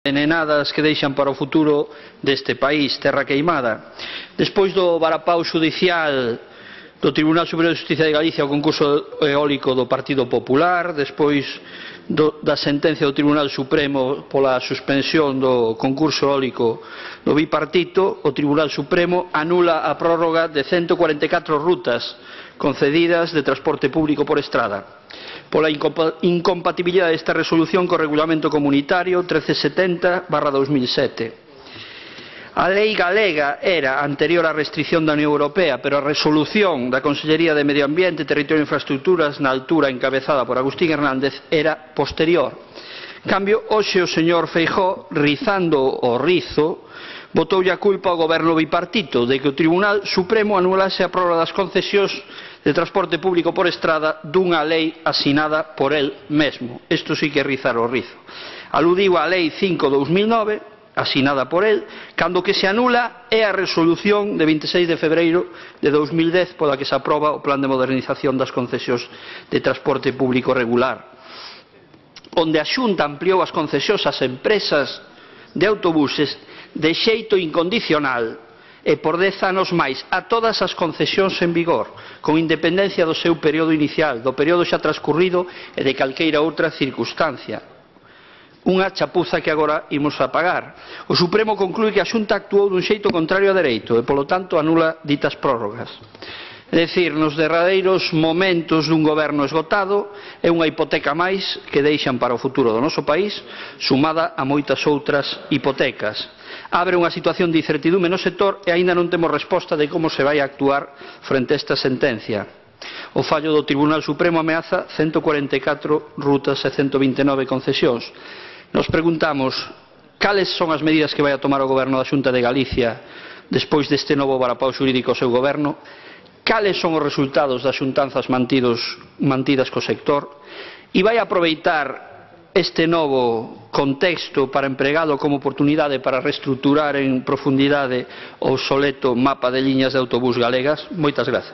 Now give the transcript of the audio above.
envenenadas que deixan para o futuro deste país, terra queimada. Despois do varapau xudicial do Tribunal Superior de Justicia de Galicia ao concurso eólico do Partido Popular, despois da sentencia do Tribunal Supremo pola suspensión do concurso eólico do bipartito, o Tribunal Supremo anula a prórroga de 144 rutas concedidas de transporte público por estrada pola incompatibilidade desta resolución co Regulamento Comunitario 1370/2007. A lei galega era anterior á restricción da Unión Europea, pero a resolución da Consellería de Medio Ambiente, Territorio e Infraestructuras na altura encabezada por Agustín Hernández era posterior. En cambio, hoxe o señor Feijóo, rizando o rizo, botoulle a culpa ao goberno bipartito de que o Tribunal Supremo anulase a prórroga das concesións de transporte público por estrada dunha lei asinada por el mesmo. Isto sí que é rizar o rizo. Aludiu á Lei 5/2009, asinada por el, cando que se anula é a resolución de 26 de febreiro de 2010 pola que se aproba o Plan de Modernización das Concesións de Transporte Público Regular, onde a Xunta ampliou as concesións ás empresas de autobuses de xeito incondicional e por 10 anos máis a todas as concesións en vigor, con independencia do seu período inicial, do período xa transcurrido e de calqueira outra circunstancia. Unha chapuza que agora imos a pagar. O Supremo conclúe que a Xunta actuou dun xeito contrario a dereito e, polo tanto, anula ditas prórrogas. É dicir, nos derradeiros momentos dun goberno esgotado, é unha hipoteca máis que deixan para o futuro do noso país, sumada a moitas outras hipotecas. Abre unha situación de incertidume no sector e aínda non temos resposta de como se vai a actuar frente a esta sentencia. O fallo do Tribunal Supremo ameaza 144 rutas e 129 concesións. Nos preguntamos cales son as medidas que vai a tomar o goberno da Xunta de Galicia despois deste novo varapau xurídico ao seu goberno, cales son os resultados das xuntanzas mantidas co sector e vai aproveitar este novo contexto para empregalo como oportunidade para reestruturar en profundidade o obsoleto mapa de liñas de autobús galegas. Moitas grazas.